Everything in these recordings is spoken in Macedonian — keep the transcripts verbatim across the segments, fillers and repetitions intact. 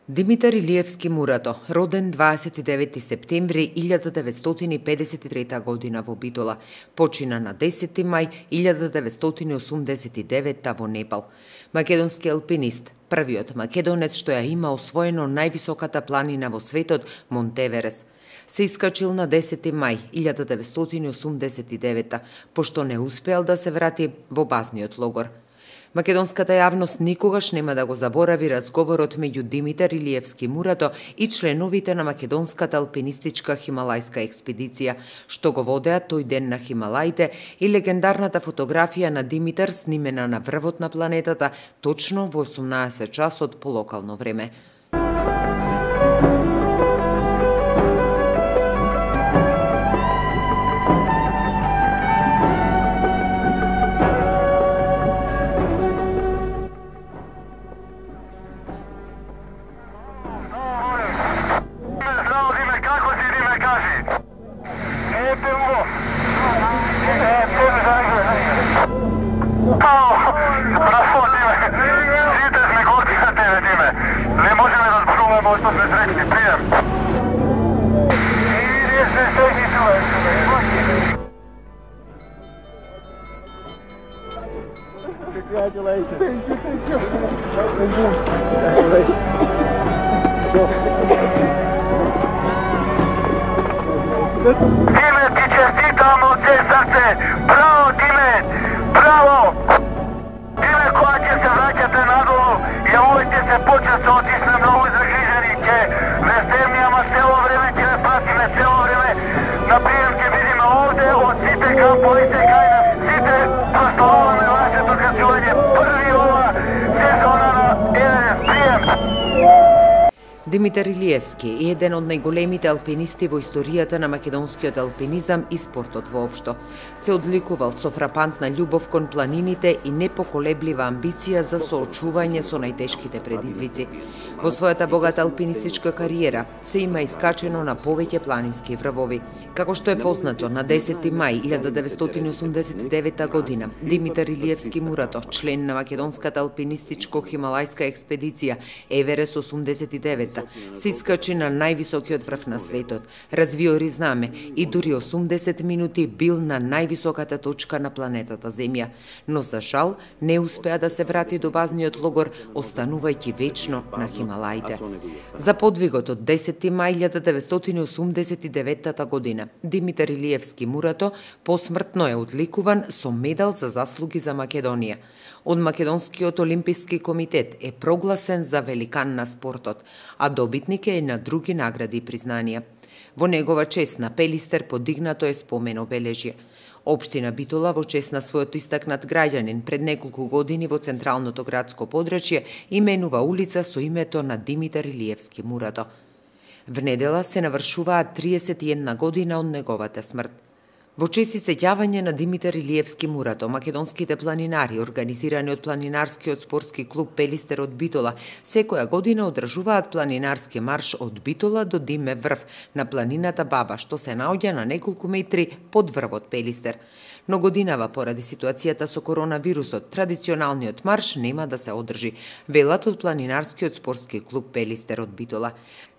Димитар Илиевски Мурато, роден дваесет и девети септември илјада деветстотини педесет и трета година во Битола, почина на десети мај илјада деветстотини осумдесет и девета во Непал. Македонски алпинист, првиот македонец што ја има освоено највисоката планина во светот, Монтеверес. Се искачил на десети мај илјада деветстотини осумдесет и девета, пошто не успеал да се врати во базниот логор. Македонската јавност никогаш нема да го заборави разговорот меѓу Димитар Илиевски Мурато и членовите на македонската алпинистичка хималајска експедиција, што го водеа тој ден на Хималаите, и легендарната фотографија на Димитар снимена на врвот на планетата точно во осумнаесет часот по локално време. Congratulations. Thank you, thank you. Thank you. Congratulations. Диме, ти честитам од се срце. Браво, Диме! Браво! Диме, кога ќе се враќате надолу, јавувајте се почесто, ти сме многу загрижени, ќе ве земни, ама цело време ќе ве пратиме, цело време на прием ќе видиме овде од сите камповите кај нас, сите прославуваме вашето качување, први ова сезона на Еверест прием. Димитар Илиевски е еден од најголемите алпинисти во историјата на македонскиот алпинизам и спортот воопшто. Се одликувал со фрапантна љубов кон планините и непоколеблива амбиција за соочување со најтешките предизвици. Во својата богата алпинистичка кариера се има искачено на повеќе планински врвови. Како што е познато, на десети мај илјада деветстотини осумдесет и девета година Димитар Илиевски Мурато, член на македонската алпинистичко-хималајска експедиција Еверест осумдесет и девета, се искачи на највисокиот врв на светот, развиори знаме и дури осумдесет минути бил на највисоката точка на планетата Земја, но за жал не успеа да се врати до базниот логор, останувајќи вечно на Хималаите. За подвигот од десети мај илјада деветстотини осумдесет и девета година Димитар Илиевски Мурато посмртно е одликуван со медал за заслуги за Македонија. Од Македонскиот олимписки комитет е прогласен за великан на спортот, а добитник е на други награди и признанија. Во негова чест на Пелистер подигнато е спомен обележје. Општина Битола во чест на својот истакнат граѓанин пред неколку години во централното градско подрачје именува улица со името на Димитар Илиевски Мурато. Внедела се навршуваат триесет и една година од неговата смрт. Во чест и сеќавање на Димитар Илиевски Мурато, македонските планинари, организирани од планинарскиот спортски клуб Пелистер од Битола, секоја година одржуваат планинарски марш од Битола до Диме врв на планината Баба, што се наоѓа на неколку метри под врвот Пелистер. Но годинава, поради ситуацијата со коронавирусот, традиционалниот марш нема да се одржи, велат од планинарскиот спортски клуб Пелистер од Битола.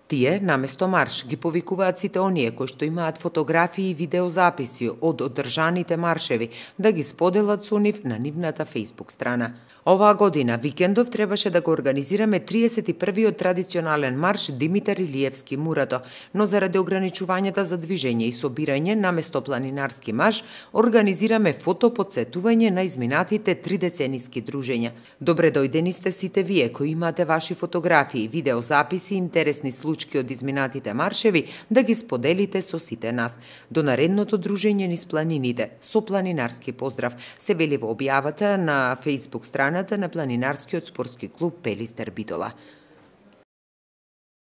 Тие, наместо марш, ги повикуваат сите оние кои што имаат фотографии и видеозаписи од одржаните маршеви да ги споделат со нив на нивната Facebook страна. Оваа година, викендов, требаше да го организираме триесет и првиот традиционален марш Димитар Илиевски Мурато, но заради ограничувањата за движење и собирање, наместо планинарски марш, организираме фотоподсетување на изминатите три децениски дружења. Добре дојдени сте сите вие кои имате ваши фотографии, видеозаписи и интересни случаи од изминатите маршеви да ги споделите со сите нас. До наредното дружење низ планините, со планинарски поздрав, се вели во објавата на Facebook страната на планинарскиот спортски клуб Пелистер Битола.